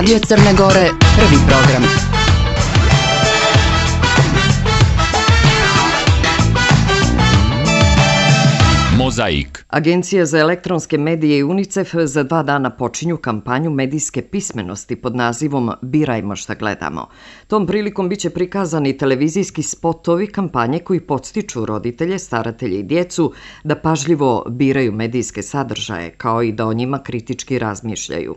Radio Crne Gore, prvi program. Mozaik. Agencija za elektronske medije i UNICEF za 2 dana počinju kampanju medijske pismenosti pod nazivom Birajmo šta gledamo. Tom prilikom biće prikazani televizijski spotovi kampanje koji podstiču roditelje, staratelje i djecu da pažljivo biraju medijske sadržaje, kao i da o njima kritički razmišljaju.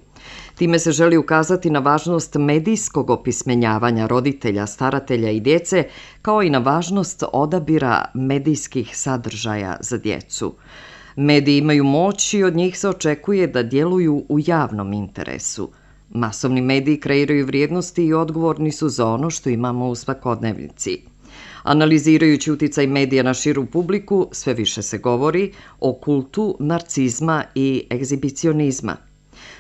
Time se želi ukazati na važnost medijskog opismenjavanja roditelja, staratelja i djece, kao i na važnost odabira medijskih sadržaja za djecu. Mediji imaju moć i od njih se očekuje da djeluju u javnom interesu. Masovni mediji kreiraju vrijednosti i odgovorni su za ono što imamo u svakodnevnici. Analizirajući uticaj medija na širu publiku, sve više se govori o kultu narcizma i egzibicionizma.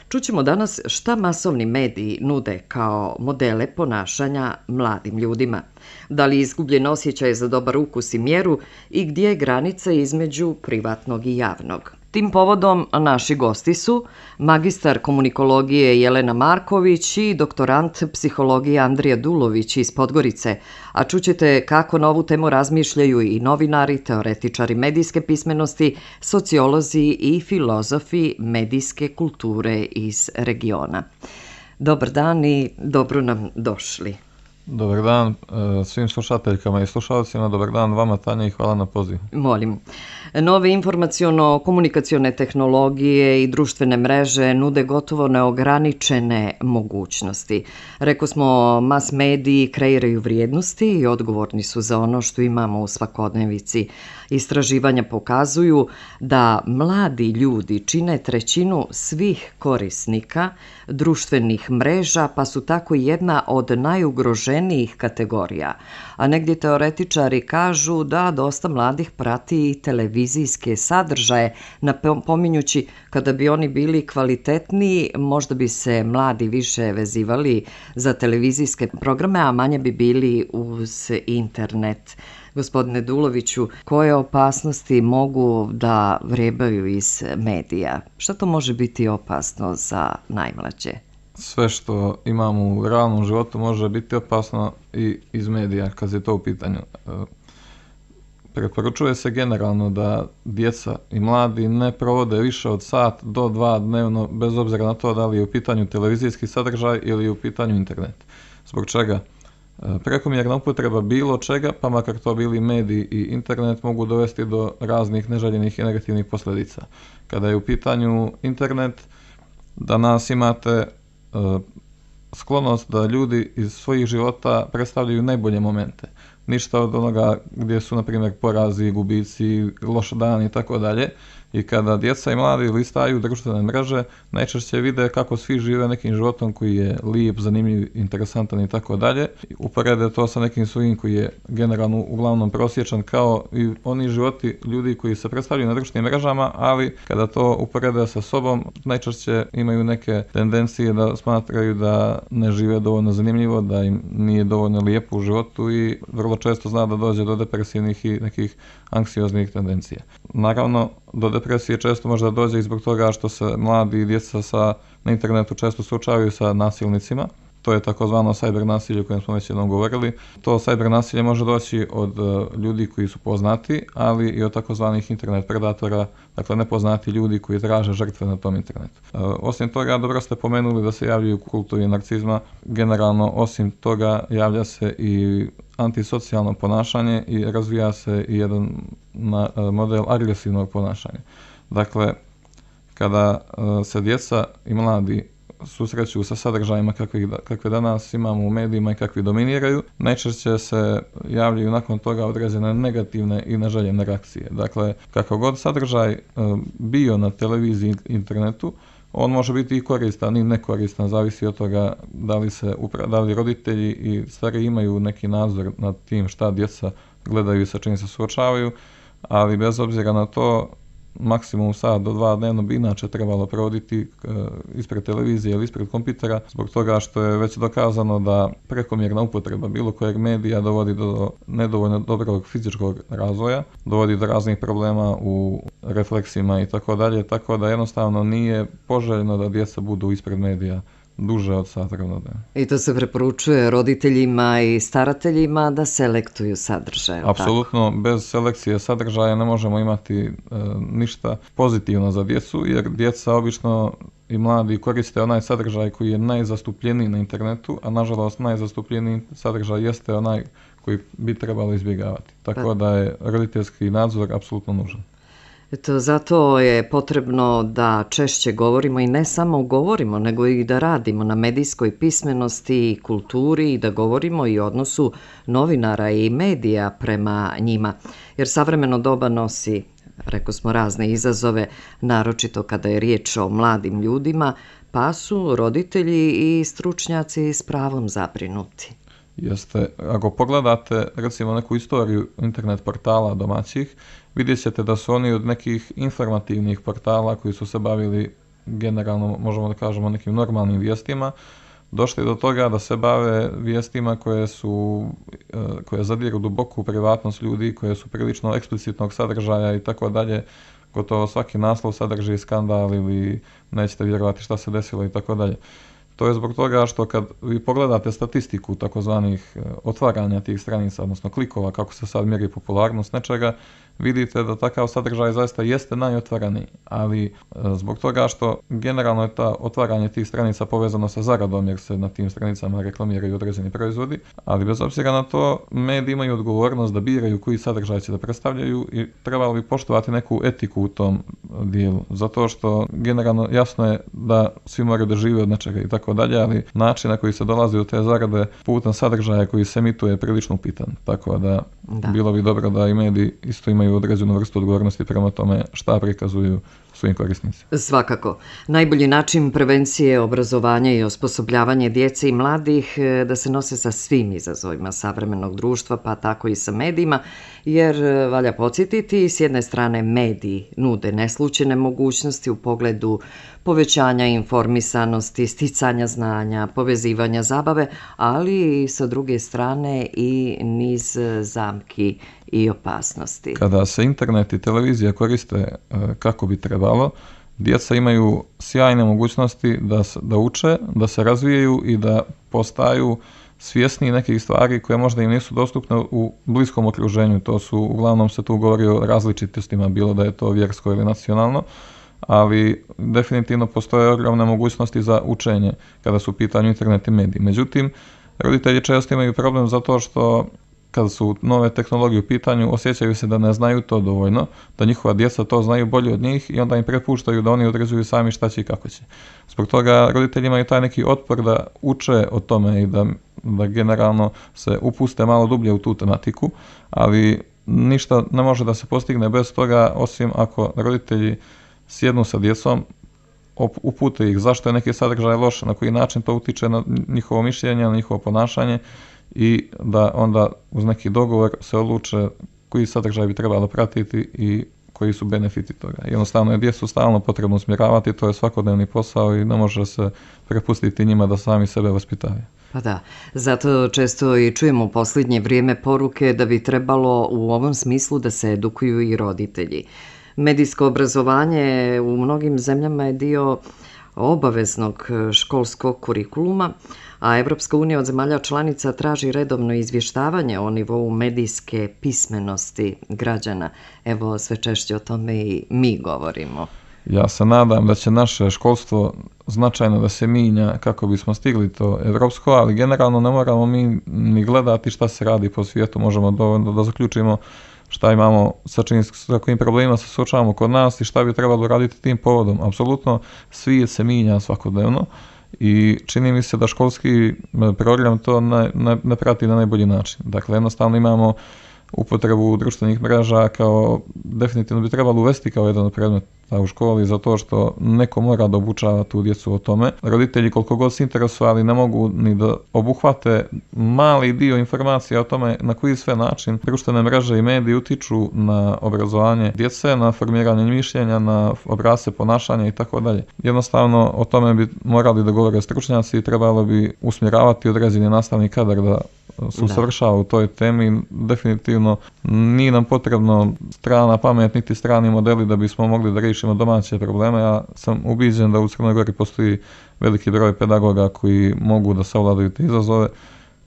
Čućemo danas šta masovni mediji nude kao modele ponašanja mladim ljudima. Da li je izgubljen osjećaj za dobar ukus i mjeru i gdje je granica između privatnog i javnog. Tim povodom naši gosti su magistar komunikologije Jelena Marković i doktorant psihologije Andrija Dulović iz Podgorice, a čućete kako na ovu temu razmišljaju i novinari, teoretičari medijske pismenosti, sociolozi i filozofi medijske kulture iz regiona. Dobar dan i dobro nam došli. Dobar dan svim slušateljkama i slušalcima, dobar dan vama Tanja i hvala na pozivu. Molim. Nove informaciono-komunikacione tehnologije i društvene mreže nude gotovo neograničene mogućnosti. Reko smo, mas mediji kreiraju vrijednosti i odgovorni su za ono što imamo u svakodnevici. Istraživanja pokazuju da mladi ljudi čine trećinu svih korisnika društvenih mreža, pa su tako jedna od najugroženijih kategorija. A negdje teoretičari kažu da dosta mladih prati i televizijske sadržaje, napominjući kada bi oni bili kvalitetniji, možda bi se mladi više vezivali za televizijske programe, a manje bi bili uz internet. Gospodine Duloviću, koje opasnosti mogu da vrebaju iz medija? Šta to može biti opasno za najmlađe? Sve što imamo u realnom životu može biti opasno i iz medija kad je to u pitanju. Preporučuje se generalno da djeca i mladi ne provode više od sat do 2 dnevno, bez obzira na to da li je u pitanju televizijski sadržaj ili je u pitanju internet. Zbog čega? Prekomjerna upotreba bilo čega, pa makar to bili mediji i internet, mogu dovesti do raznih neželjenih i negativnih posljedica. Kada je u pitanju internet, danas imate sklonost da ljudi iz svojih života predstavljaju najbolje momente. Ništa od onoga gdje su, na primjer, porazi, gubici, loš dan i tako dalje. I kada djeca i mladi listaju društvene mreže, najčešće vide kako svi žive nekim životom koji je lijep, zanimljiv, interesantan i tako dalje. Uporede to sa nekim svojim koji je generalno uglavnom prosječan, kao i oni životi ljudi koji se predstavljaju na društvenim mrežama, ali kada to uporede sa sobom, najčešće imaju neke tendencije da smatraju da ne žive dovoljno zanimljivo, da im nije dovoljno lijepo u životu i vrlo često zna da dođe do depresivnih i nekih anksioznih tendencija. Naravno, do depresije često možda dođe i zbog toga što se mladi i djeca na internetu često suočavaju sa nasilnicima. To je takozvano cyber nasilje o kojem smo već jednom govorili. To cyber nasilje može doći od ljudi koji su poznati, ali i od takozvanih internet predatora, dakle nepoznati ljudi koji traže žrtve na tom internetu. Osim toga, dobro ste pomenuli da se javljaju kultovi narcizma. Generalno, osim toga, javlja se i antisocijalno ponašanje i razvija se i jedan model agresivnog ponašanja. Dakle, kada se djeca i mladi susreću sa sadržajima kakve danas imamo u medijima i kakvi dominiraju, najčešće se javljaju nakon toga određene negativne i neželjene reakcije. Dakle, kako god sadržaj bio na televiziji i internetu, on može biti i koristan i nekoristan, zavisi od toga da li roditelji i stari imaju neki nadzor nad tim šta djeca gledaju i sa čim se suočavaju, ali bez obzira na to, maksimum sat do 2 dnevno bi inače trebalo provoditi ispred televizije ili ispred kompjutera, zbog toga što je već dokazano da prekomjerna upotreba bilo kojeg medija dovodi do nedovoljno dobrog fizičkog razvoja, dovodi do raznih problema u refleksima i tako dalje, tako da jednostavno nije poželjno da djeca budu ispred medija duže od sat vremena. I to se preporučuje roditeljima i starateljima da selektuju sadržaj. Apsolutno, bez selekcije sadržaja ne možemo imati ništa pozitivno za djecu, jer djeca obično i mladi koriste onaj sadržaj koji je najzastupljeniji na internetu, a nažalost najzastupljeniji sadržaj jeste onaj koji bi trebalo izbjegavati. Tako da je roditeljski nadzor apsolutno nužan. Eto, zato je potrebno da češće govorimo i ne samo govorimo, nego i da radimo na medijskoj pismenosti i kulturi i da govorimo i o odnosu novinara i medija prema njima. Jer savremeno doba nosi, rekao smo, razne izazove, naročito kada je riječ o mladim ljudima, pa su roditelji i stručnjaci s pravom zabrinuti. Jeste, ako pogledate recimo neku istoriju internet portala domaćih, vidjet ćete da su oni od nekih informativnih portala koji su se bavili generalno, možemo da kažemo, nekim normalnim vijestima, došli do toga da se bave vijestima koje zadiru duboko u privatnost ljudi, koje su prilično eksplicitnog sadržaja i tako dalje. Gotovo svaki naslov sadrži skandal ili nećete vjerovati šta se desilo i tako dalje. To je zbog toga što kad vi pogledate statistiku takozvanih otvaranja tih stranica, odnosno klikova, kako se sad mjeri popularnost nečega, vidite da takav sadržaj zaista jeste najotvaraniji, ali zbog toga što generalno je ta otvaranje tih stranica povezano sa zaradom, jer se na tim stranicama reklamiraju određeni proizvodi, ali bez obzira na to, mediji imaju odgovornost da biraju koji sadržaj će da predstavljaju i trebalo bi poštovati neku etiku u tom dijelu, zato što generalno jasno je da svi moraju da žive od nečega i tako dalje, ali način na koji se dolazi do te zarade putem sadržaja koji se emituje je prilično upitan, tako da bilo bi dobro da i mediji isto imaju određenu vrstu odgovornosti prema tome šta prikazuju svojim korisnicima. Svakako. Najbolji način prevencije, obrazovanja i osposobljavanje djece i mladih da se nose sa svim izazovima savremenog društva, pa tako i sa medijima, jer valja podsjetiti, s jedne strane mediji nude neslućene mogućnosti u pogledu povećanja informisanosti, sticanja znanja, povezivanja zabave, ali i sa druge strane i niz zamki i opasnosti. Kada se internet i televizija koriste kako bi trebalo, djeca imaju sjajne mogućnosti da uče, da se razvijaju i da postaju svjesni nekih stvari koje možda im nisu dostupne u bliskom okruženju. To su, uglavnom se tu govori o različitostima, bilo da je to vjersko ili nacionalno, ali definitivno postoje ogromne mogućnosti za učenje kada su u pitanju internet i mediji. Međutim, roditelji često imaju problem zato što kad su nove tehnologije u pitanju, osjećaju se da ne znaju to dovoljno, da njihova djeca to znaju bolje od njih i onda im prepuštaju da oni određuju sami šta će i kako će. Zbog toga roditelji imaju taj neki otpor da uče o tome i da generalno se upuste malo dublje u tu tematiku, ali ništa ne može da se postigne bez toga, osim ako roditelji sjednu sa djecom, upute ih zašto je neki sadržaj loš, na koji način to utiče na njihovo mišljenje, na njihovo ponašanje i da onda uz neki dogovor se odluče koji sadržaj bi trebalo pratiti i koji su benefiti toga. Jednostavno je djecu stalno potrebno usmjeravati, to je svakodnevni posao i ne može se prepustiti njima da sami sebe vaspitavaju. Pa da, zato često i čujemo u posljednje vrijeme poruke da bi trebalo u ovom smislu da se edukuju i roditelji. Medijsko obrazovanje u mnogim zemljama je dio obaveznog školskog kurikuluma, a Evropska unija od zemalja članica traži redovno izvještavanje o nivou medijske pismenosti građana. Evo, sve češće o tome i mi govorimo. Ja se nadam da će naše školstvo značajno da se mijenja kako bismo stigli to evropsko, ali generalno ne moramo mi ni gledati šta se radi po svijetu, možemo dovoljno da zaključimo šta imamo, sa kojim problemima se suočavamo kod nas i šta bi trebalo raditi tim povodom. Apsolutno svijet se mijenja svakodnevno i čini mi se da školski program to ne prati na najbolji način. Dakle, jednostavno imamo upotrebu društvenih mreža kao definitivno bi trebalo uvesti kao jedan od predmeta u školi, zato što neko mora da obučava tu djecu o tome. Roditelji koliko god se interesovali ne mogu ni da obuhvate mali dio informacija o tome na koji sve način društvene mreže i mediji utiču na obrazovanje djece, na formiranje mišljenja, na obrasce ponašanja i tako dalje. Jednostavno o tome bi morali da govore stručnjaci i trebalo bi usmjeravati određeni nastavni kadar da se usavršava u toj temi. Definitivno nije nam potrebno strana pamet niti strani modeli da bismo mogli da riješimo domaće probleme. Ja sam ubiđen da u Crnoj Gori postoji veliki broj pedagoga koji mogu da savladaju te izazove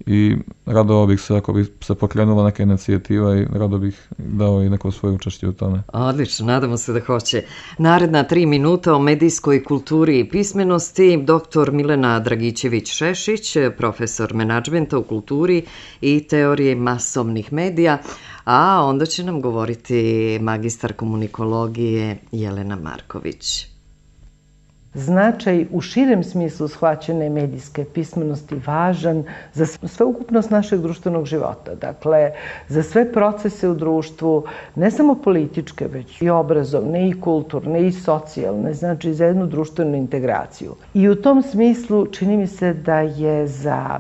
i radovao bih se ako bi se pokrenula neka inicijativa i rado bih dao i neko svoje učešće u tome. Odlično, nadamo se da hoće. Naredna 3 minuta o medijskoj kulturi i pismenosti. Dr. Milena Dragićević-Šešić, profesor menadžmenta u kulturi i teorije masovnih medija, a onda će nam govoriti magistar komunikologije Jelena Marković. Značaj u širem smislu shvaćene medijske pismenosti važan za sveukupnost našeg društvenog života. Dakle, za sve procese u društvu, ne samo političke, već i obrazovne, i kulturne, i socijalne, znači za jednu društvenu integraciju. I u tom smislu čini mi se da je za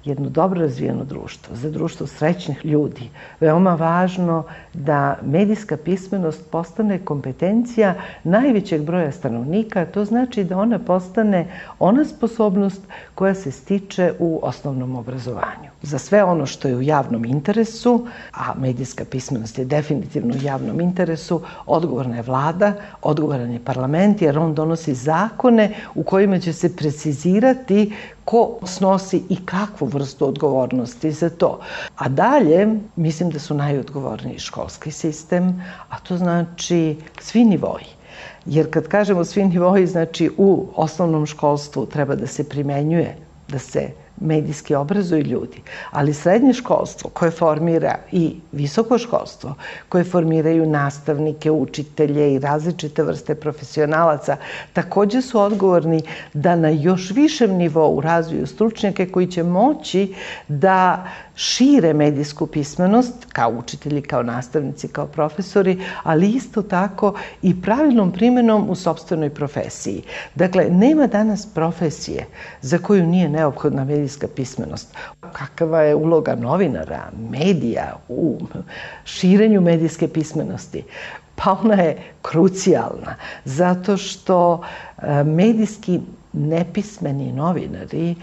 jedno dobro razvijeno društvo, za društvo srećnih ljudi, veoma važno da medijska pismenost postane kompetencija najvećeg broja stanovnika. To znači da ona postane ona sposobnost koja se stiče u osnovnom obrazovanju. Za sve ono što je u javnom interesu, a medijska pismenost je definitivno u javnom interesu, odgovorna je vlada, odgovoran je parlament, jer on donosi zakone u kojima će se precizirati ko snosi i kakvu vrstu odgovornosti za to. A dalje, mislim da su najodgovorniji školski sistem, a to znači svi nivoji. Jer kad kažemo svi nivoji, znači u osnovnom školstvu treba da se primenjuje, da se medijski obrazuju ljudi, ali srednje školstvo koje formira i visoko školstvo, koje formiraju nastavnike, učitelje i različite vrste profesionalaca, također su odgovorni da na još višem nivou razviju stručnjake koji će moći da šire medijsku pismenost kao učitelji, kao nastavnici, kao profesori, ali isto tako i pravilnom primjenom u sopstvenoj profesiji. Dakle, nema danas profesije za koju nije neophodna medijska pismenost. Kakva je uloga novinara, medija u širenju medijske pismenosti? Pa ona je krucijalna, zato što medijski nepismeni novinari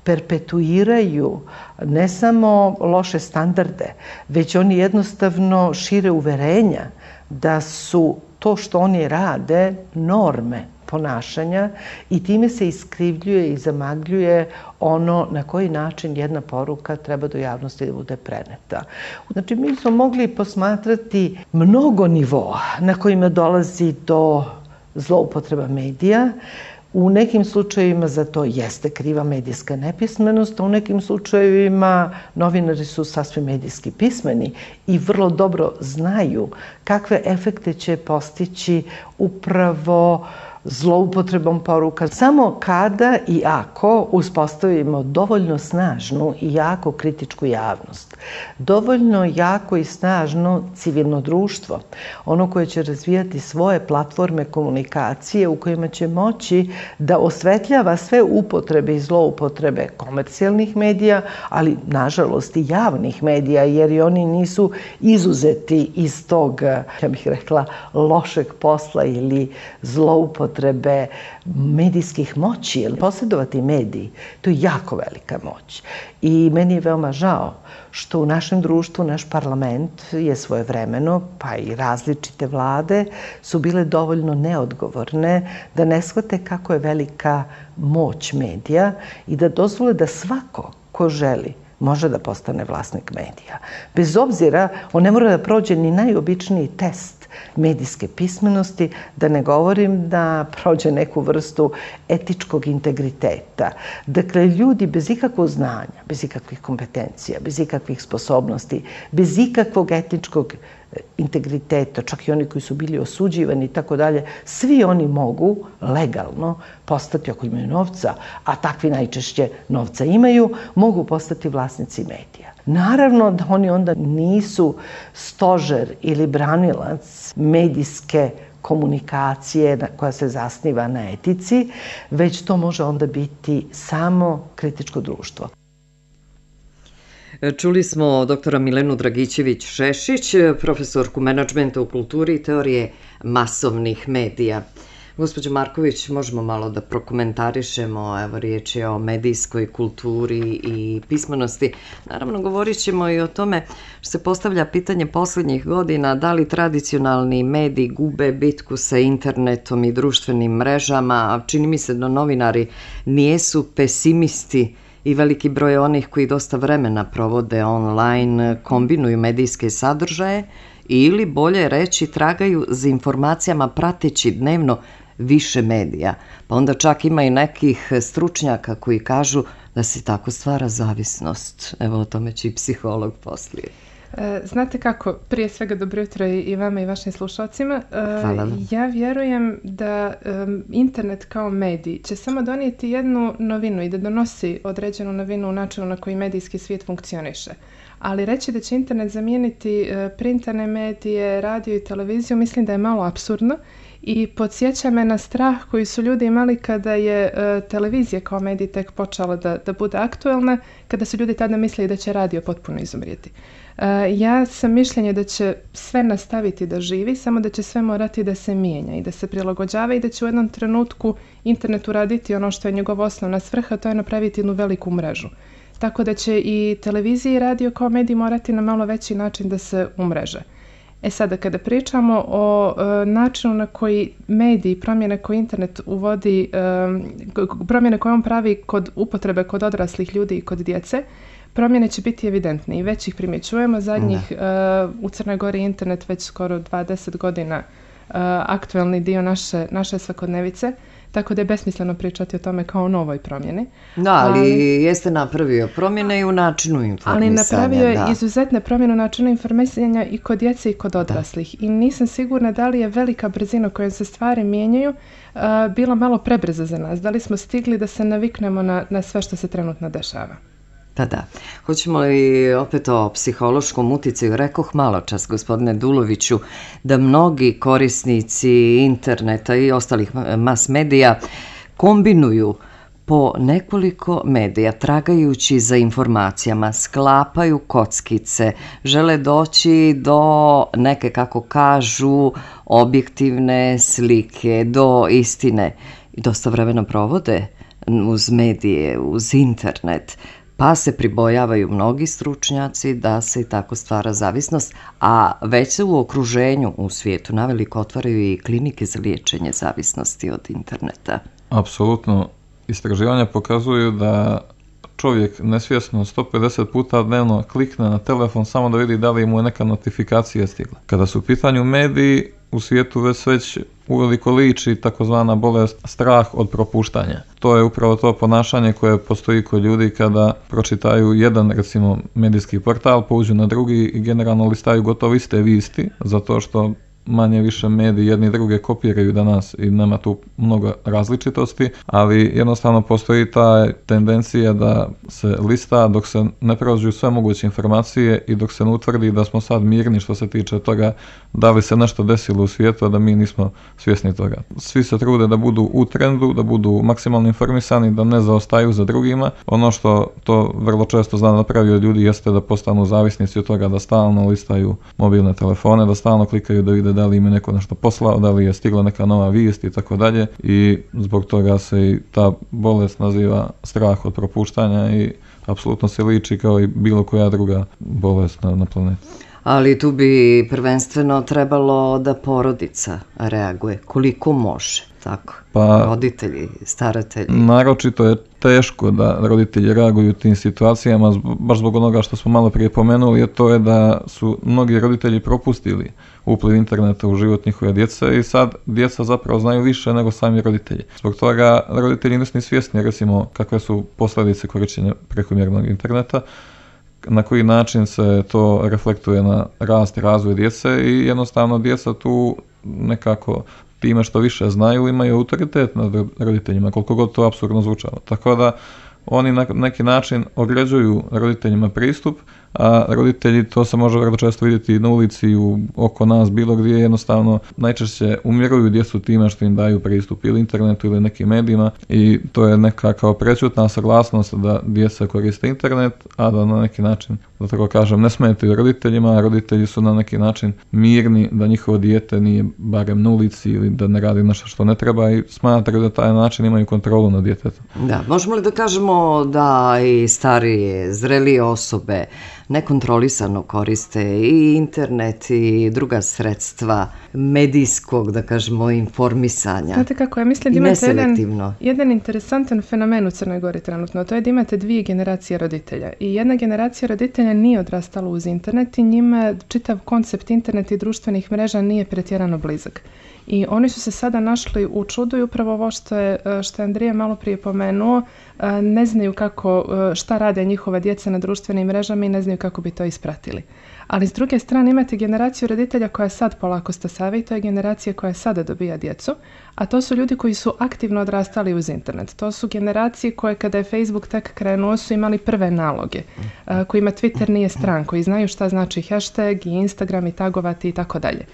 perpetuiraju ne samo loše standarde, već oni jednostavno šire uverenja da su to što oni rade norme ponašanja i time se iskrivljuje i zamagljuje ono na koji način jedna poruka treba do javnosti da bude preneta. Znači, mi smo mogli posmatrati mnogo nivoa na kojima dolazi do zloupotreba medija. U nekim slučajevima za to jeste kriva medijska nepismenost, a u nekim slučajevima novinari su sasvim medijski pismeni i vrlo dobro znaju kakve efekte će postići upravo zloupotrebom poruka. Samo kada i ako uspostavimo dovoljno snažnu i jako kritičku javnost, dovoljno jako i snažno civilno društvo, ono koje će razvijati svoje platforme komunikacije u kojima će moći da osvetljava sve upotrebe i zloupotrebe komercijalnih medija, ali nažalost i javnih medija, jer i oni nisu izuzeti iz tog, ja bih rekla, lošeg posla ili zloupotrebe medijskih moći, jer posjedovati mediji, to je jako velika moć. I meni je veoma žao što u našem društvu, naš parlament je svojevremeno, pa i različite vlade, su bile dovoljno neodgovorne da ne shvate kako je velika moć medija i da dozvole da svako ko želi može da postane vlasnik medija. Bez obzira, on ne mora da prođe ni najobičniji test medijske pismenosti, da ne govorim da prođe neku vrstu etičkog integriteta. Dakle, ljudi bez ikakvog znanja, bez ikakvih kompetencija, bez ikakvih sposobnosti, bez ikakvog etičkog integriteta, čak i oni koji su bili osuđivani i tako dalje, svi oni mogu legalno postati, ako imaju novca, a takvi najčešće novca imaju, mogu postati vlasnici medija. Naravno da oni onda nisu stožer ili branilac medijske komunikacije koja se zasniva na etici, već to može onda biti samo kritičko društvo. Čuli smo doktora Milenu Dragićević-Šešić, profesorku menadžmenta u kulturi i teorije masovnih medija. Gospođo Marković, možemo malo da prokomentarišemo, evo riječ je o medijskoj kulturi i pismenosti. Naravno, govorit ćemo i o tome što se postavlja pitanje posljednjih godina, da li tradicionalni mediji gube bitku sa internetom i društvenim mrežama. Čini mi se da novinari nijesu pesimisti i veliki broj onih koji dosta vremena provode online, kombinuju medijske sadržaje ili, bolje reći, tragaju za informacijama prateći dnevno više medija. Pa onda čak ima i nekih stručnjaka koji kažu da se tako stvara zavisnost. Evo, o tome će i psiholog poslije. Znate kako, prije svega dobro jutro i vama i vašim slušalcima. Ja vjerujem da internet kao medij će samo donijeti jednu novinu i da donosi određenu novinu u načinu na koji medijski svijet funkcioniše. Ali reći da će internet zamijeniti printane medije, radio i televiziju, mislim da je malo apsurdno i podsjeća me na strah koji su ljudi imali kada je televizija kao medij tek počela da bude aktualna, kada su ljudi tada mislili da će radio potpuno izumrijeti. Ja sam mišljenja da će sve nastaviti da živi, samo da će sve morati da se mijenja i da se prilagođava i da će u jednom trenutku internet uraditi ono što je njegova osnovna svrha, to je napraviti jednu veliku mrežu. Tako da će i televizija i radio kao medij morati na malo veći način da se umreže. Sada, kada pričamo o načinu na koji mediji, promjene koje internet uvodi, promjene koje on pravi kod upotrebe kod odraslih ljudi i kod djece, promjene će biti evidentne i već ih primjećujemo. Zadnjih u Crnoj Gori internet već skoro 20 godina aktualni dio naše svakodnevice, tako da je besmisleno pričati o tome kao o novoj promjeni. Da, ali jeste napravio promjene i u načinu informisanja. Ali napravio je izuzetne promjene u načinu informisanja i kod djece i kod odraslih. I nisam sigurna da li je velika brzina kojom se stvari mijenjaju bila malo prebrza za nas. Da li smo stigli da se naviknemo na sve što se trenutno dešava. Da. Hoćemo li opet o psihološkom uticaju? Rekoh malo čas, gospodine Duloviću, da mnogi korisnici interneta i ostalih mas medija kombinuju po nekoliko medija, tragajući za informacijama, sklapaju kockice, žele doći do neke, kako kažu, objektivne slike, do istine. I dosta vremena provode uz medije, uz internet. Pa se pribojavaju mnogi stručnjaci da se i tako stvara zavisnost, a već se u okruženju, u svijetu, naveliko otvaraju i klinike za liječenje zavisnosti od interneta. Apsolutno. Istraživanja pokazuju da čovjek nesvjesno 150 puta dnevno klikne na telefon samo da vidi da li mu je neka notifikacija stigla. Kada su u pitanju mediji, u svijetu već uveliko liči takozvana bolest strah od propuštanja. To je upravo to ponašanje koje postoji kod ljudi kada pročitaju jedan, recimo, medijski portal, pouđu na drugi i generalno listaju gotovo iste vijesti, zato što manje više mediji jedni druge kopiraju danas i nema tu mnogo različitosti, ali jednostavno postoji ta tendencija da se lista dok se ne prođu sve moguće informacije i dok se ne utvrdi da smo sad mirni što se tiče toga da li se nešto desilo u svijetu, a da mi nismo svjesni toga. Svi se trude da budu u trendu, da budu maksimalno informisani, da ne zaostaju za drugima. Ono što to vrlo često zna napravi od ljudi jeste da postanu zavisnici od toga, da stalno listaju mobilne telefone, da stalno klikaju da vide da li im je neko nešto poslao, da li je stigla neka nova vijest i tako dalje, i zbog toga se i ta bolest naziva strah od propuštanja i apsolutno se liči kao i bilo koja druga bolest na planeti. Ali tu bi prvenstveno trebalo da porodica reaguje koliko može, tako? Roditelji, staratelji. Naročito je teško da roditelji reaguju u tim situacijama, baš zbog onoga što smo malo prije pomenuli, a to je da su mnogi roditelji propustili upliv interneta u život njihove djece i sad djeca zapravo znaju više nego sami roditelji. Zbog toga roditelji nisu ni svjesni, recimo, kakve su posljedice korištenja prekomjernog interneta, na koji način se to reflektuje na rast i razvoj djece i jednostavno djeca tu nekako time što više znaju imaju autoritet nad roditeljima, koliko god to apsurdno zvučalo. Tako da oni na neki način određuju roditeljima pristup, a roditelji, to se može vrlo često vidjeti na ulici, oko nas, bilo gdje, jednostavno najčešće umiruju djecu time što im daju pristup ili internetu ili nekim medijima i to je neka kao prečutna saglasnost da djeca koriste internet, a da na neki način, da tako kažem, ne smetaju roditeljima, a roditelji su na neki način mirni da njihovo dijete nije barem na ulici ili da ne radi nešto što ne treba i smatraju da taj način imaju kontrolu nad djetetom. Da, možemo li da kažemo da i starije, zrelije osobe nekontrolisano koriste i internet i druga sredstva medijskog, da kažemo, informisanja? Znate kako, ja mislim da imate jedan interesantan fenomen u Crnoj Gori trenutno, to je da imate 2 generacije roditelja. I jedna generacija roditelja nije odrastala uz internet i njima čitav koncept interneta i društvenih mreža nije pretjerano blizak. I oni su se sada našli u čudu i upravo ovo što je Andrija malo prije pomenuo, ne znaju šta rade njihova djeca na društvenim mrežama i ne znaju kako bi to ispratili. Ali s druge strane imate generaciju roditelja koja sad polako stasava i to je generacija koja sada dobija djecu, a to su ljudi koji su aktivno odrastali uz internet. To su generacije koje kada je Facebook tek krenuo su imali prve naloge, kojima Twitter nije stran, koji znaju šta znači hashtag i Instagram i tagovati i tako dalje.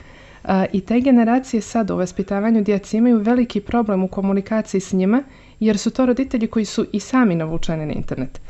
I te generacije sad u vaspitavanju djece imaju veliki problem u komunikaciji s njima jer su to roditelji koji su i sami navučeni na internet.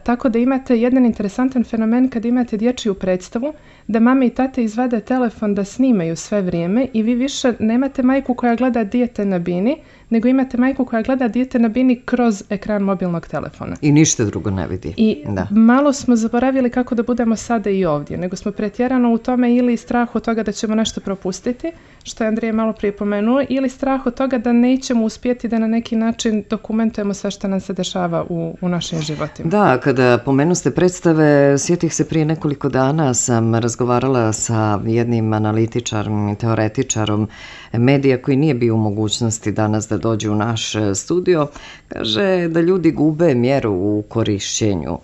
Tako da imate jedan interesantan fenomen kad imate dječju predstavu da mame i tate izvade telefon da snimaju sve vrijeme i vi više nemate majku koja gleda dijete na bini, nego imate majku koja gleda dijete na bini kroz ekran mobilnog telefona. I ništa drugo ne vidi. I malo smo zaboravili kako da budemo sada i ovdje, nego smo pretjerano u tome ili strah od toga da ćemo nešto propustiti, što je Andrija malo prije pomenuo, ili strah od toga da nećemo uspjeti da na neki način dokumentujemo sve što nam se dešava u našim životima. Da, kada pomenuste predstave, sjetih se prije nekoliko dana sam razgovarala sa jednim analitičarom i teoretičarom medija koji nije bio u mogućnosti danas da dođe u naš studio. Kaže da ljudi gube mjeru u korišćenju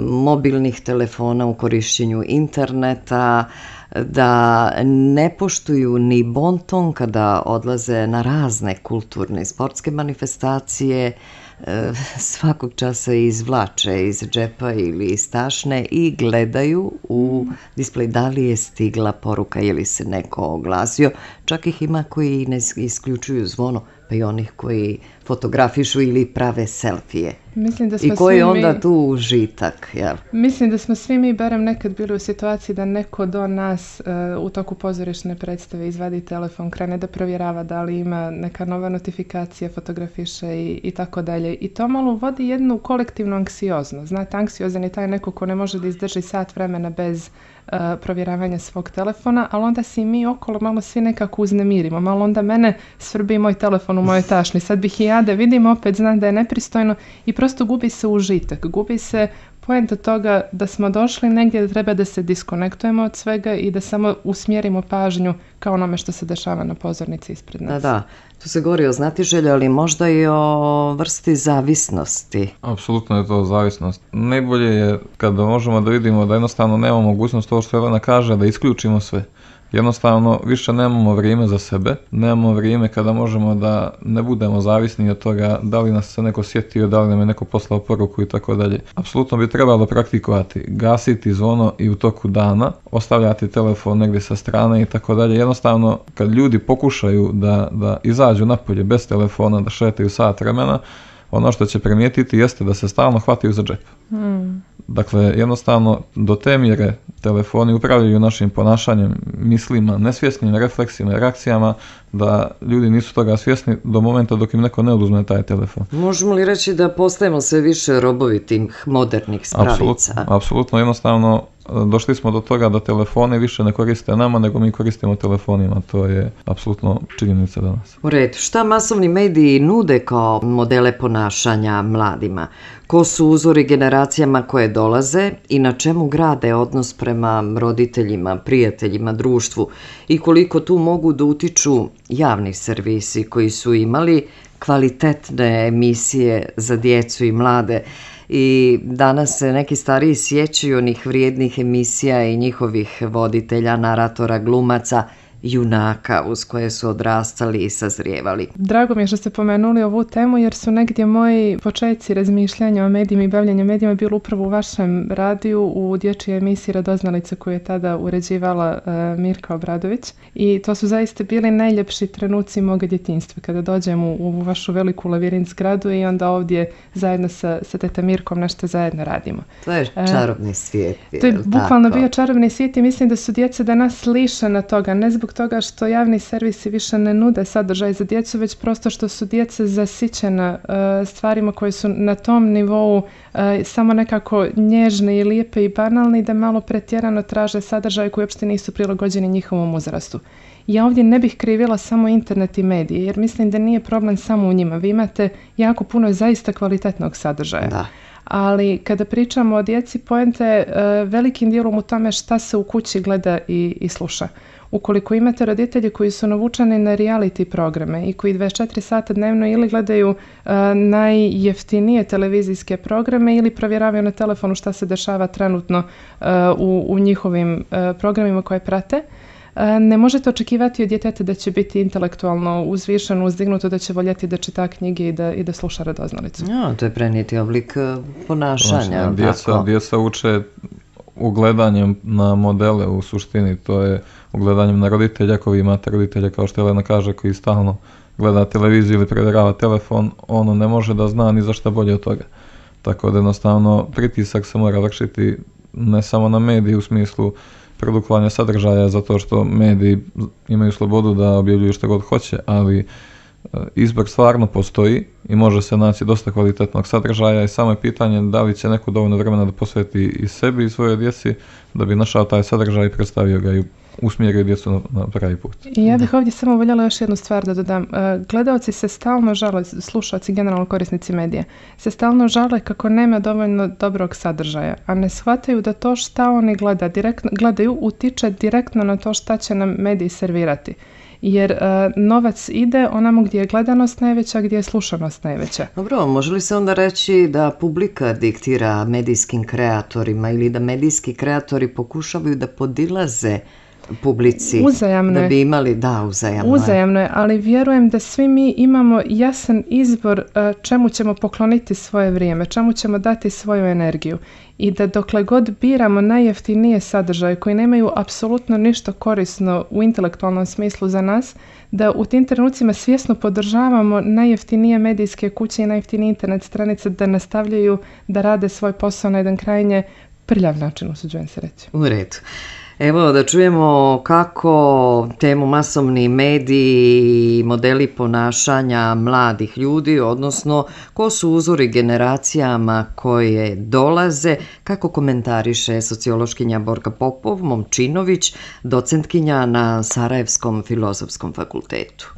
mobilnih telefona, u korišćenju interneta, da ne poštuju ni bon ton kada odlaze na razne kulturne i sportske manifestacije, svakog časa izvlače iz džepa ili iz tašne i gledaju u displej da li je stigla poruka ili se neko oglasio. Čak ih ima koji ne isključuju zvono, pa i onih koji fotografišu ili prave selfije. I koji je onda tu užitak? Jel? Mislim da smo svi mi barem nekad bili u situaciji da neko do nas u toku pozorišne predstave izvadi telefon, krene da provjerava da li ima neka nova notifikacija, fotografiše i tako dalje. I to malo vodi jednu kolektivnu anksioznost. Znate, anksiozan je taj neko ko ne može da izdrži sat vremena bez provjeravanja svog telefona, ali onda si mi okolo malo svi nekako uznemirimo. Malo onda mene svrbi moj telefon u mojoj tašni. Sad bih i ja da vidim, opet znam da je nepristojno i prosto gubi se užitak. Gubi se poenta toga da smo došli negdje da treba da se diskonektujemo od svega i da samo usmjerimo pažnju kao onome što se dešava na pozornici ispred nas. Da, tu se govori o znatiželju, ali možda i o vrsti zavisnosti. Apsolutno je to zavisnost. Najbolje je kada možemo da vidimo da jednostavno nemamo mogućnost to što Jelena kaže, da isključimo sve. Jednostavno više nemamo vrijeme za sebe, nemamo vrijeme kada možemo da ne budemo zavisni od toga da li nas se neko sjetio, da li nam je neko poslao poruku i tako dalje. Apsolutno bi trebalo praktikovati, gasiti zvono i u toku dana, ostavljati telefon negdje sa strane i tako dalje. Jednostavno kad ljudi pokušaju da izađu napolje bez telefona, da šetaju sat vremena, ono što će primijetiti jeste da se stalno hvataju za džep. Dakle, jednostavno do te mjere telefoni upravljaju našim ponašanjem, mislima, nesvjesnim refleksima i reakcijama da ljudi nisu toga svjesni do momenta dok im neko ne oduzme taj telefon. Možemo li reći da postajemo sve više robovi tih modernih spravica? Apsolutno, jednostavno došli smo do toga da telefoni više ne koriste nama, nego mi koristimo telefonima. To je apsolutno činjenica danas. U redu, šta masovni mediji nude kao modele ponašanja mladima? Ko su uzori generacijama koje dolaze i na čemu grade odnos prema roditeljima, prijateljima, društvu i koliko tu mogu da utiču javni servisi koji su imali kvalitetne emisije za djecu i mlade i danas se neki stariji sjećaju onih vrijednih emisija i njihovih voditelja, naratora, glumaca junaka uz koje su odrastali i sazrijevali. Drago mi je što ste pomenuli ovu temu jer su negdje moji početci razmišljanja o medijima i bavljenja medijima bili upravo u vašem radiju u dječjoj emisiji Radoznalica koju je tada uređivala Mirka Obradović i to su zaista bili najljepši trenuci moga djetinjstva kada dođem u ovu vašu veliku lavirint zgradu i onda ovdje zajedno sa teta Mirkom nešto zajedno radimo. To je čarobni svijet. To je bukvalno bio čarobni svijet i mislim da su djeca danas lišena toga, ne zbog toga što javni servisi više ne nude sadržaj za djecu, već prosto što su djeca zasićena stvarima koje su na tom nivou samo nekako nježne i lijepe i banalne i da malo pretjerano traže sadržaje koji uopšte nisu prilagođeni njihovom uzrastu. Ja ovdje ne bih krivila samo internet i medije, jer mislim da nije problem samo u njima. Vi imate jako puno zaista kvalitetnog sadržaja. Da. Ali kada pričamo o djeci, poenta je velikim dijelom u tome šta se u kući gleda i sluša. Ukoliko imate roditelje koji su navučeni na reality programe i koji 24 sata dnevno ili gledaju najjeftinije televizijske programe ili provjeravaju na telefonu šta se dešava trenutno u njihovim programima koje prate, ne možete očekivati od djeteta da će biti intelektualno uzvišeno, uzdignuto, da će voljeti da čita knjige i da sluša Radoznalicu. Ja, to je prenijeti oblik ponašanja. Djeca uče ugledanjem na modele u suštini, to je ugledanjem na roditelja. Ako vi imate roditelja, kao što Elena kaže, koji stalno gleda televiziju ili provjerava telefon, ono ne može da zna ni za šta bolje od toga. Tako da jednostavno pritisak se mora vršiti ne samo na mediji u smislu produkovanja sadržaja, zato što mediji imaju slobodu da objavljuju što god hoće, ali izbor stvarno postoji i može se naći dosta kvalitetnog sadržaja i samo je pitanje da li će neko dovoljno vremena da posveti i sebi i svojoj djeci da bi našao taj sadržaj i predstavio ga i usmjerio djecu na pravi put. I ja bih ovdje samo voljela još jednu stvar da dodam. Gledaoci se stalno žale, slušaoci, generalno korisnici medija, se stalno žale kako nema dovoljno dobrog sadržaja, a ne shvataju da to šta oni gledaju utiče direktno na to šta će nam mediji servirati. Jer novac ide onamo gdje je gledanost najveća, gdje je slušanost najveća. Dobro, može li se onda reći da publika diktira medijskim kreatorima ili da medijski kreatori pokušavaju da podilaze publici? Uzajamno da bi imali, uzajamno je, ali vjerujem da svi mi imamo jasan izbor čemu ćemo pokloniti svoje vrijeme, čemu ćemo dati svoju energiju i da dokle god biramo najjeftinije sadržaje koji nemaju apsolutno ništa korisno u intelektualnom smislu za nas, da u tim trenucima svjesno podržavamo najjeftinije medijske kuće i najjeftinije internet stranice da nastavljaju da rade svoj posao na jedan krajnje prljav način, usuđujem se reći. U redu. Evo da čujemo kako temu masovni mediji i modeli ponašanja mladih ljudi, odnosno ko su uzori generacijama koje dolaze, kako komentariše sociološkinja Borka Popov-Momčinović, docentkinja na Sarajevskom filozofskom fakultetu.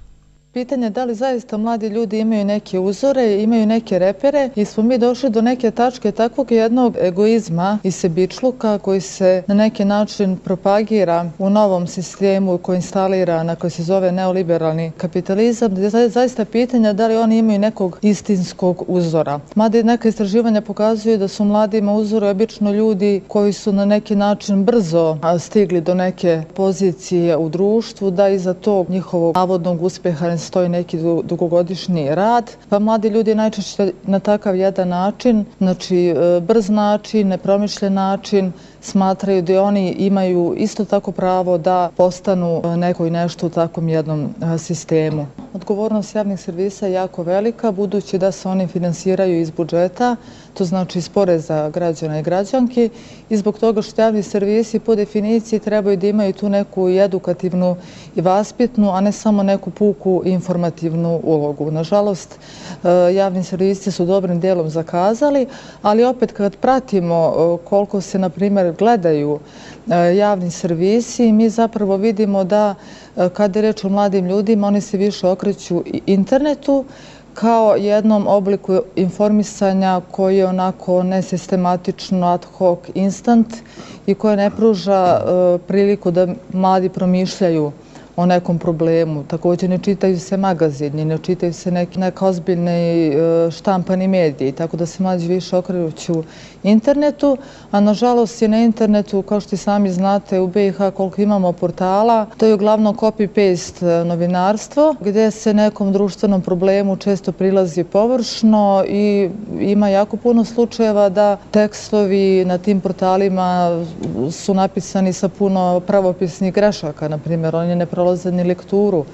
Pitanje je da li zaista mladi ljudi imaju neke uzore, imaju neke repere i smo mi došli do neke tačke takvog jednog egoizma i sebičluka koji se na neki način propagira u novom sistemu koji instalira na koji se zove neoliberalni kapitalizam, gdje je zaista pitanje da li oni imaju nekog istinskog uzora. Mada neka istraživanja pokazuju da su mladima uzori obično ljudi koji su na neki način brzo stigli do neke pozicije u društvu, da iza tog njihovog navodnog uspjeha stoji neki dugogodišnji rad, pa mladi ljudi najčešće na takav jedan način, znači brz način, nepromišljen način, smatraju da oni imaju isto tako pravo da postanu neko i nešto u takvom jednom sistemu. Odgovornost javnih servisa je jako velika, budući da se oni finansiraju iz budžeta, to znači iz poreza građana i građanki, i zbog toga što javni servisi po definiciji trebaju da imaju tu neku i edukativnu i vaspitnu, a ne samo neku puku informativnu ulogu. Nažalost, javni servisi su dobrim dijelom zakazali, ali opet kad pratimo koliko se, na primjer, gledaju javni servisi, mi zapravo vidimo da kada je reč o mladim ljudima, oni se više okreću internetu kao jednom obliku informisanja koji je onako nesistematično, ad hoc, instant i koje ne pruža priliku da mladi promišljaju o nekom problemu. Također ne čitaju se magazini, ne čitaju se neka ozbiljni štampani mediji, tako da se mlađi više okreću internetu, a nažalost je na internetu, kao što i sami znate, u BiH koliko imamo portala, to je uglavnom copy-paste novinarstvo, gdje se nekom društvenom problemu često prilazi površno i ima jako puno slučajeva da tekstovi na tim portalima su napisani sa puno pravopisnih grešaka, na primjer, oni ne prolaze ni lekturu.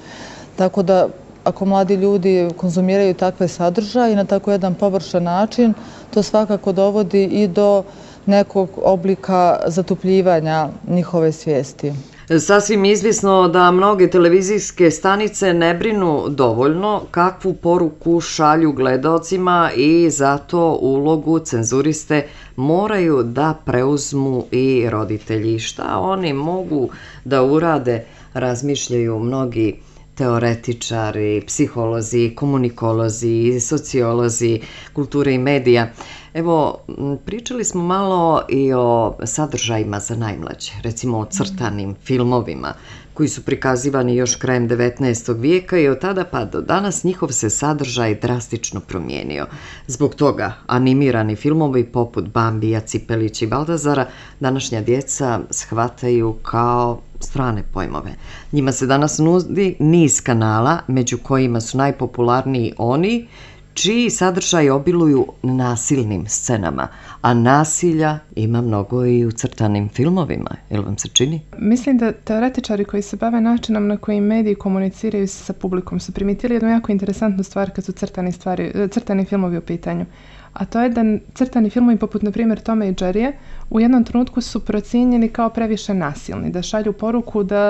Tako da, ako mladi ljudi konzumiraju takve sadržaje i na tako jedan površan način, to svakako dovodi i do nekog oblika zatupljivanja njihove svijesti. Sasvim izvisno da mnoge televizijske stanice ne brinu dovoljno kakvu poruku šalju gledaocima i zato ulogu cenzuriste moraju da preuzmu i roditelji. Šta oni mogu da urade, razmišljaju mnogi teoretičari, psiholozi, komunikolozi, sociolozi, kulture i medija. Evo, pričali smo malo i o sadržajima za najmlađe, recimo o crtanim filmovima koji su prikazivani još krajem 19. vijeka i od tada pa do danas njihov se sadržaj drastično promijenio. Zbog toga animirani filmovi poput Bambija, Cipelić i Baldazara današnja djeca shvataju kao strane pojmove. Njima se danas nudi niz kanala, među kojima su najpopularniji oni čiji sadržaj obiluju nasilnim scenama, a nasilja ima mnogo i u crtanim filmovima. Jel vam se čini? Mislim da teoretičari koji se bave načinom na koji mediji komuniciraju sa publikom su primijetili jednu jako interesantnu stvar kad su crtani filmovi u pitanju. A to je da crtani filmovi poput, na primjer, Toma i Jerryje u jednom trenutku su procijenjeni kao previše nasilni, da šalju poruku da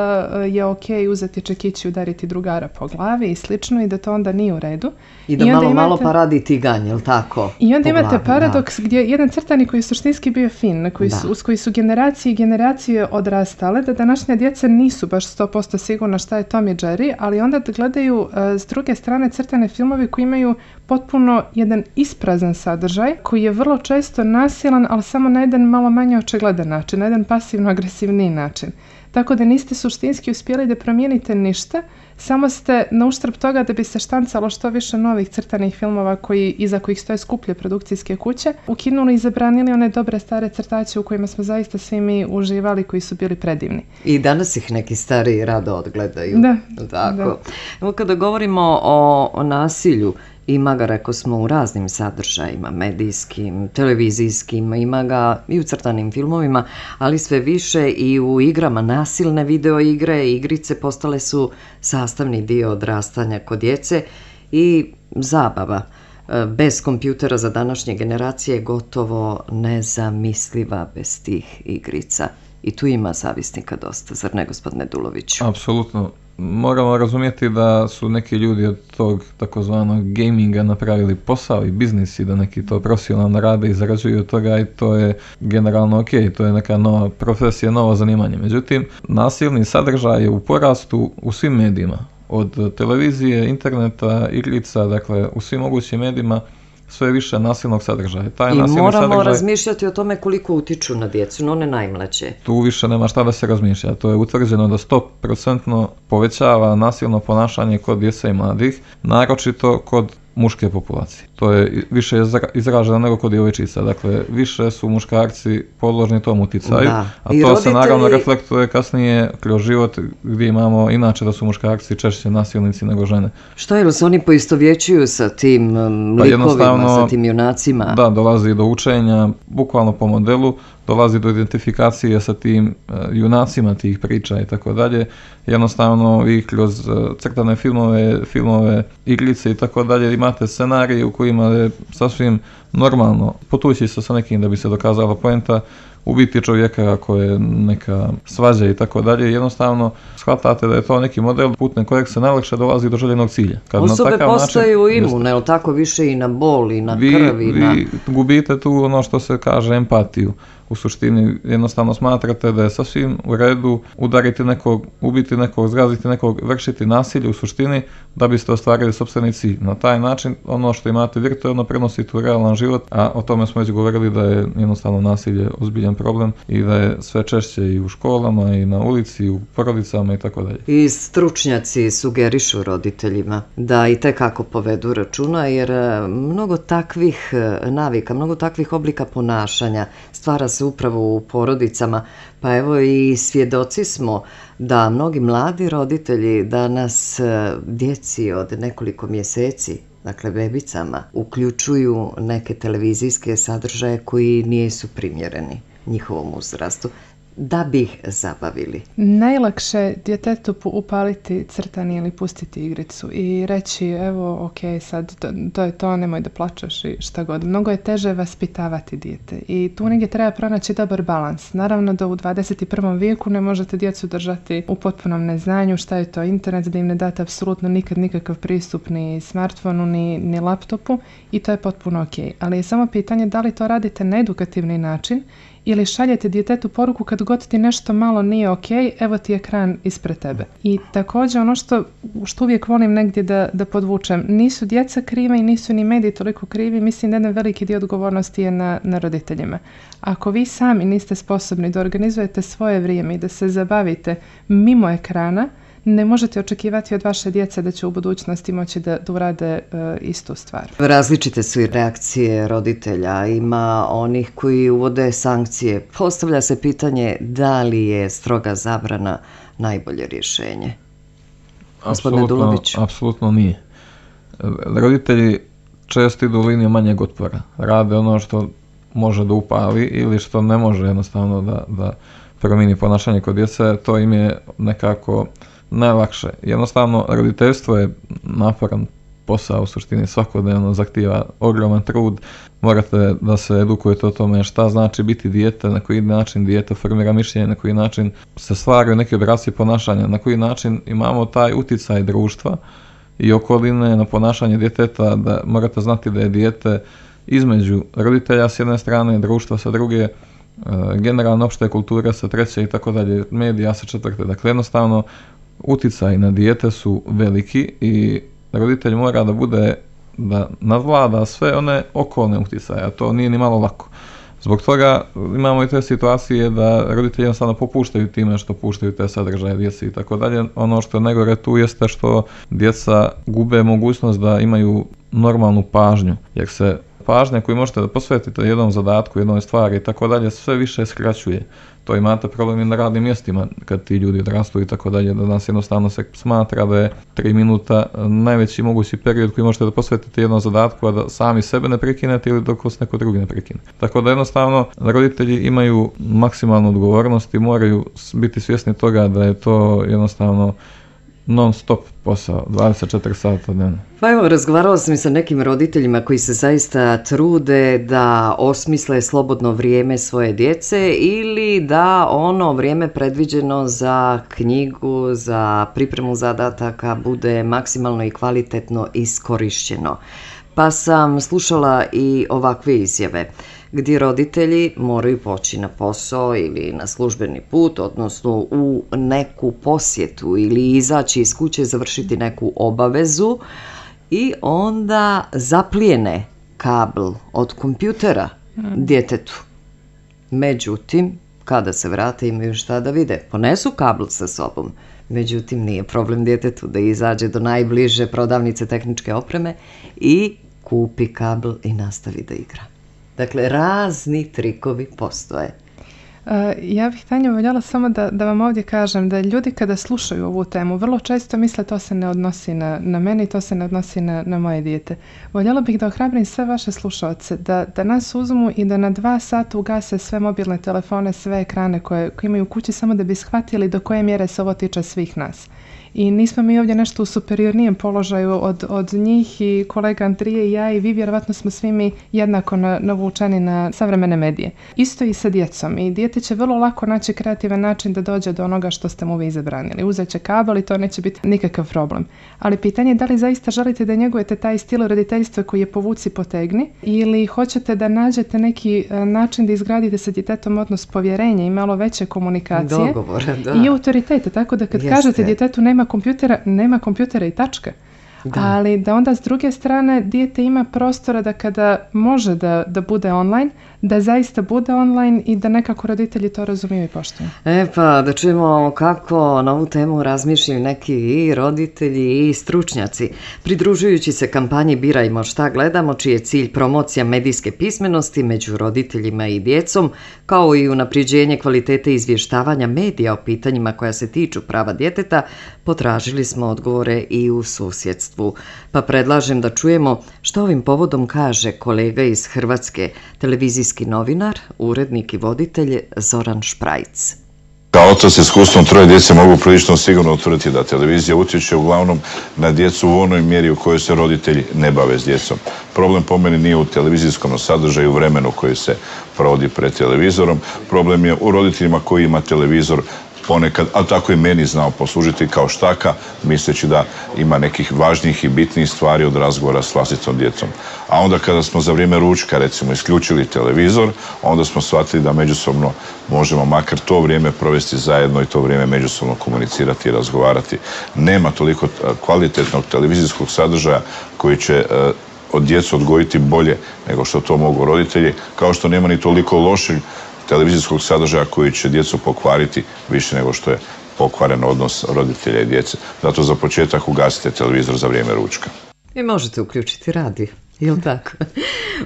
je ok uzeti čekić i udariti drugara po glavi i slično i da to onda nije u redu. I da malo pa radi tiganj, jel tako? I onda imate paradoks gdje jedan crtani koji je suštinski bio fin, uz koji su generacije i generacije odrastale, da današnja djeca nisu baš 100% sigurna šta je Tom i Jerry, ali onda gledaju s druge strane crtane filmove koji imaju potpuno jedan isprazan sadržaj, koji je vrlo često nasilan, ali samo na jedan malo manje očigledan način, na jedan pasivno-agresivniji način. Tako da niste suštinski uspjeli da promijenite ništa, samo ste na uštrb toga da bi se štancalo što više novih crtanih filmova iza kojih stoje skuplje produkcijske kuće, ukinuli i zabranili one dobre stare crtače u kojima smo zaista svi mi uživali, koji su bili predivni. I danas ih neki stari rado odgledaju. Da. Tako. Da. Evo kada govorimo o nasilju, ima ga, rekao smo, u raznim sadržajima, medijskim, televizijskim, ima ga i u crtanim filmovima, ali sve više i u igrama. Nasilne video igre, igrice postale su sastavni dio odrastanja kod djece i zabava bez kompjutera za današnje generacije je gotovo nezamisliva bez tih igrica. I tu ima zavisnika dosta, zar ne, gospodine Duloviću? Apsolutno. Moramo razumjeti da su neki ljudi od tog takozvanog gaminga napravili posao i biznis i da neki to profesionalno rade i zarađuju od toga i to je generalno ok, to je neka nova profesija, novo zanimanje. Međutim, nasilni sadržaj je u porastu u svim medijima, od televizije, interneta, igrica, dakle u svim mogućim medijima sve više nasilnog sadržaja. I moramo razmišljati o tome koliko utiču na djecu, no one najmlađe. Tu više nema šta da se razmišlja. To je utvrđeno da 100% povećava nasilno ponašanje kod djece i mladih, naročito kod muške populacije. To je više izraženo nego kod djevojčica. Dakle, više su muškarci podložni tom uticaju, a to se naravno reflektuje kasnije kroz život gdje imamo inače da su muškarci češće nasilnici nego žene. Što je, se oni poistovjećuju sa tim likovima, sa tim junacima? Da, dolazi do učenja, bukvalno po modelu, dolazi do identifikacije sa tim junacima tih priča i tako dalje. Jednostavno vi kroz crtane filmove, igrice i tako dalje imate scenarije u kojima je sasvim normalno potući se sa nekim da bi se dokazala poenta, ubiti čovjeka ako je neka svađa i tako dalje. Jednostavno shvatate da je to neki model putem kojeg se najlakše dolazi do željenog cilja. Osobe postaju imune, ali tako više i na bol i na krv. Vi gubite tu ono što se kaže empatiju. u suštini jednostavno smatrate da je sasvim u redu udariti nekog, ubiti nekog, zgaziti nekog, vršiti nasilje u suštini da biste ostvarili sopstveni cilj. Na taj način ono što imate virtualno prenosite u realan život, a o tome smo već govorili da je jednostavno nasilje ozbiljan problem i da je sve češće i u školama i na ulici i u porodicama i tako dalje. I stručnjaci sugerišu roditeljima da i tekako povedu računa, jer mnogo takvih navika, mnogo takvih oblika ponašanja stvara se upravo u porodicama, pa evo i svjedoci smo da mnogi mladi roditelji danas djeci od nekoliko mjeseci, dakle bebicama, uključuju neke televizijske sadržaje koji nisu primjereni njihovom uzrastu, da bi ih zabavili. Najlakše djetetu upaliti crtani ili pustiti igricu i reći evo ok, sad to je to, nemoj da plačeš i šta god. Mnogo je teže vaspitavati dijete i tu negdje treba pronaći dobar balans. Naravno da u 21. vijeku ne možete djecu držati u potpunom neznanju šta je to internet, da im ne date apsolutno nikad nikakav pristup ni smartfonu ni laptopu i to je potpuno ok. Ali je samo pitanje da li to radite na edukativni način ili šaljete djetetu poruku kad god ti nešto malo nije ok, evo ti ekran ispred tebe. I također ono što uvijek volim negdje da podvučem, nisu djeca kriva i nisu ni mediji toliko krivi, mislim da jedan veliki dio odgovornosti je na roditeljima. Ako vi sami niste sposobni da organizujete svoje vrijeme i da se zabavite mimo ekrana, ne možete očekivati od vaše djece da će u budućnosti moći da urade istu stvar. Različite su i reakcije roditelja. Ima onih koji uvode sankcije. Postavlja se pitanje da li je stroga zabrana najbolje rješenje. Gospodine Dulović. Apsolutno nije. Roditelji često idu u liniju manjeg otpora. Rade ono što može da upali ili što ne može jednostavno da promijeni ponašanje kod djece. To im je nekako najlakše. Jednostavno, roditeljstvo je naporan posao, u suštini svakodnevno zahtijeva ogroman trud. Morate da se edukujete o tome šta znači biti dijete, na koji način dijete formira mišljenje, na koji način se stvaraju neki obrasci ponašanja, na koji način imamo taj uticaj društva i okoline na ponašanje djeteta, da morate znati da je dijete između roditelja s jedne strane, društva sa druge, generalno opšte kulture sa treće i tako dalje, medija sa četvrte. Dakle, jednostavno, uticaj na dijete su veliki i roditelj mora da nadvlada sve one okolne uticaje, a to nije ni malo lako. Zbog toga imamo i te situacije da roditelji jednostavno popuštaju time što puštaju te sadržaje djeci i tako dalje. Ono što je najgore tu jeste što djeca gube mogućnost da imaju normalnu pažnju, jer se pažnja koju možete da posvetite jednom zadatku, jednoj stvari i tako dalje, sve više skraćuje. To imate problem i na radnim mjestima kad ti ljudi odrastu i tako dalje, da nas jednostavno se smatra da je 3 minuta najveći mogući period koji možete da posvetite jednom zadatku, a da sami sebe ne prekinete ili dok vas neko drugi ne prekine. Tako da jednostavno roditelji imaju maksimalnu odgovornost i moraju biti svjesni toga da je to jednostavno non stop posao, 24 sata dnevno. Pa evo, razgovarala sam i sa nekim roditeljima koji se zaista trude da osmisle slobodno vrijeme svoje djece ili da ono vrijeme predviđeno za knjigu, za pripremu zadataka bude maksimalno i kvalitetno iskorišćeno. Pa sam slušala i ovakve izjave gdje roditelji moraju poći na posao ili na službeni put, odnosno u neku posjetu ili izaći iz kuće, završiti neku obavezu i onda zaplijene kabel od kompjutera djetetu. Međutim, kada se vrate imaju šta da vide. Ponesu kabel sa sobom. Međutim, nije problem djetetu da izađe do najbliže prodavnice tehničke opreme i kupi kabel i nastavi da igra. Dakle, razni trikovi postoje. Ja bih, Tanja, voljela samo da vam ovdje kažem da ljudi kada slušaju ovu temu vrlo često misle to se ne odnosi na mene i to se ne odnosi na moje dijete. Voljela bih da ohrabrim sve vaše slušaoce da nas uzmu i da na 2 sata ugase sve mobilne telefone, sve ekrane koje imaju u kući samo da bi shvatili do koje mjere se ovo tiče svih nas. i nismo mi ovdje nešto u superiornijem položaju od njih i kolega Andrije i ja i vi, vjerovatno smo svi mi jednako navučeni na savremene medije. Isto i sa djecom i dijete će vrlo lako naći kreativan način da dođe do onoga što ste mu vi zabranili. Uzet će kabel i to neće biti nikakav problem. Ali pitanje je da li zaista želite da njegujete taj stil roditeljstva koji je povuci potegni ili hoćete da nađete neki način da izgradite sa djetetom odnos povjerenja i malo veće komunikacije. Dogovora, da. I autoritete, tako da kad kažete djetetu nema kompjutera i tačka. Da. Ali da onda s druge strane dijete ima prostora da kada može da bude online, da zaista bude online i da nekako roditelji to razumiju i poštuju. Pa da čujemo kako na ovu temu razmišljaju neki i roditelji i stručnjaci. Pridružujući se kampanji Birajmo šta gledamo, čiji je cilj promocija medijske pismenosti među roditeljima i djecom, kao i unapređenje kvalitete izvještavanja medija o pitanjima koja se tiču prava djeteta, potražili smo odgovore i u susjedstvu. Pa predlažem da čujemo što ovim povodom kaže kolega iz Hrvatske, televizijski novinar, urednik i voditelj Zoran Šprajc. Kao otac s iskustvom 3 djece mogu prilično sigurno utvrditi da televizija utječe uglavnom na djecu u onoj mjeri u kojoj se roditelji ne bave s djecom. Problem po meni nije u televizijskom sadržaju, vremenu koji se provodi pred televizorom. Problem je u roditeljima koji ima televizor ponekad, ali tako i meni znao poslužiti kao štaka, misleći da ima nekih važnijih i bitnijih stvari od razgovora s vlastitom djecom. A onda kada smo za vrijeme ručka, recimo, isključili televizor, onda smo shvatili da međusobno možemo makar to vrijeme provesti zajedno i to vrijeme međusobno komunicirati i razgovarati. Nema toliko kvalitetnog televizijskog sadržaja koji će od djecu odgojiti bolje nego što to mogu roditelji, kao što nema ni toliko lošeg televizijskog sadržaja koji će djecu pokvariti više nego što je pokvaren odnos roditelja i djece. Zato za početak ugasite televizor za vrijeme ručka. I možete uključiti radio, jel tako?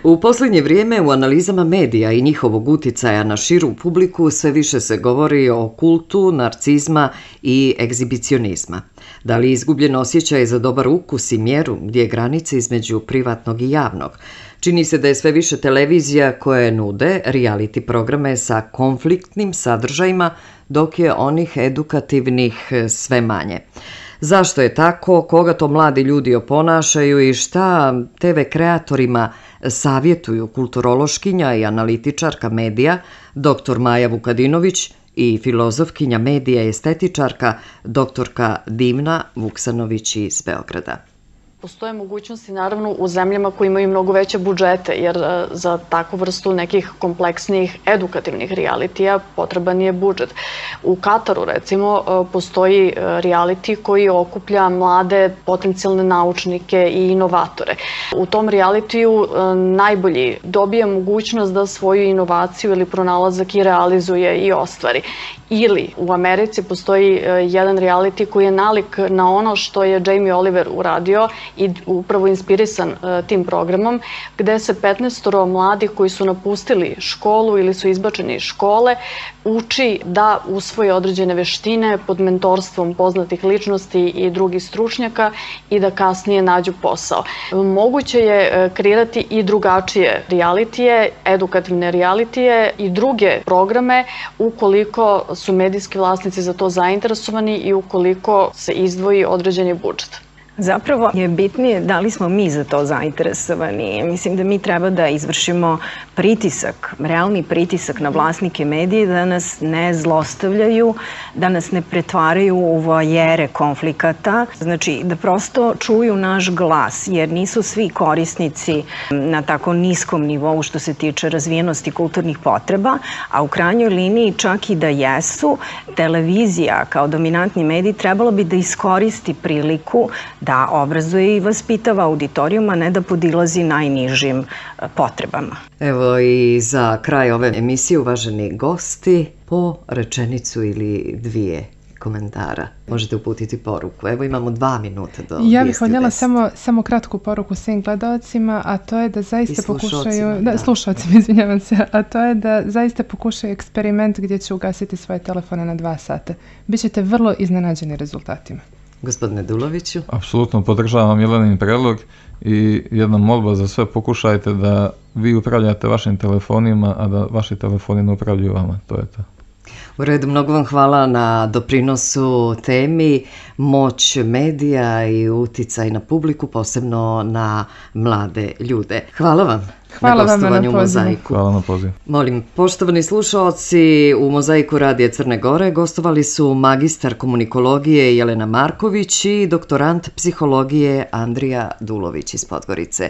U posljednje vrijeme u analizama medija i njihovog utjecaja na širu publiku sve više se govori o kultu, narcizma i egzibicionizma. Da li je izgubljen osjećaj za dobar ukus i mjeru gdje je granica između privatnog i javnog? Čini se da je sve više televizija koje nude reality programe sa konfliktnim sadržajima, dok je onih edukativnih sve manje. Zašto je tako, koga to mladi ljudi oponašaju i šta TV kreatorima savjetuju kulturološkinja i analitičarka medija dr. Maja Vukadinović i filozofkinja medija i estetičarka dr. Dimna Vuksanović iz Beograda. Postoje mogućnosti naravno u zemljama koji imaju mnogo veće budžete, jer za takvu vrstu nekih kompleksnih edukativnih realitija potreban je budžet. U Kataru recimo postoji reality koji okuplja mlade potencijalne naučnike i inovatore. U tom realitiju najbolji dobije mogućnost da svoju inovaciju ili pronalazak i realizuje i ostvari. Ili u Americi postoji jedan reality koji je nalik na ono što je Jamie Oliver uradio i upravo inspirisan tim programom, gde se 15 mladih koji su napustili školu ili su izbačeni iz škole uči da usvoje određene veštine pod mentorstvom poznatih ličnosti i drugih stručnjaka i da kasnije nađu posao. Moguće je kreirati i drugačije realitije, edukativne realitije i druge programe ukoliko su medijski vlasnici za to zainteresovani i ukoliko se izdvoji određeni budžet. Zapravo je bitnije da li smo mi za to zainteresovani. Mislim da mi treba da izvršimo pritisak, realni pritisak na vlasnike medije da nas ne zlostavljaju, da nas ne pretvaraju u vojere konflikata. Znači da prosto čuju naš glas, jer nisu svi korisnici na tako niskom nivou što se tiče razvijenosti kulturnih potreba, a u krajnjoj liniji čak i da jesu, televizija kao dominantni medij trebalo bi da iskoristi priliku da obrazuje i vaspitava auditorijum, a ne da podilazi najnižim potrebama. Evo i za kraj ove emisije, uvaženi gosti, po rečenicu ili dvije komentara možete uputiti poruku. Evo imamo 2 minuta do 10. Ja bih voljela samo kratku poruku svim gledalcima, a to je da zaista pokušaju, slušalcima, izvinjavam se, a to je da zaista pokušaju eksperiment gdje će ugasiti svoje telefone na 2 sata. Bićete vrlo iznenađeni rezultatima. Gospodine Duloviću? Apsolutno podržavam Jelenin predlog i jedna molba za sve, pokušajte da vi upravljate vašim telefonima, a da vaši telefoni ne upravljaju vama, to je to. U redu, mnogo vam hvala na doprinosu temi moć medija i uticaj na publiku, posebno na mlade ljude. Hvala vam. Hvala na vam na Mozaiku. Hvala na pozivu. Molim, poštovani slušaoci, u Mozaiku Radija Crne Gore gostovali su magistar komunikologije Jelena Marković i doktorant psihologije Andrija Dulović iz Podgorice.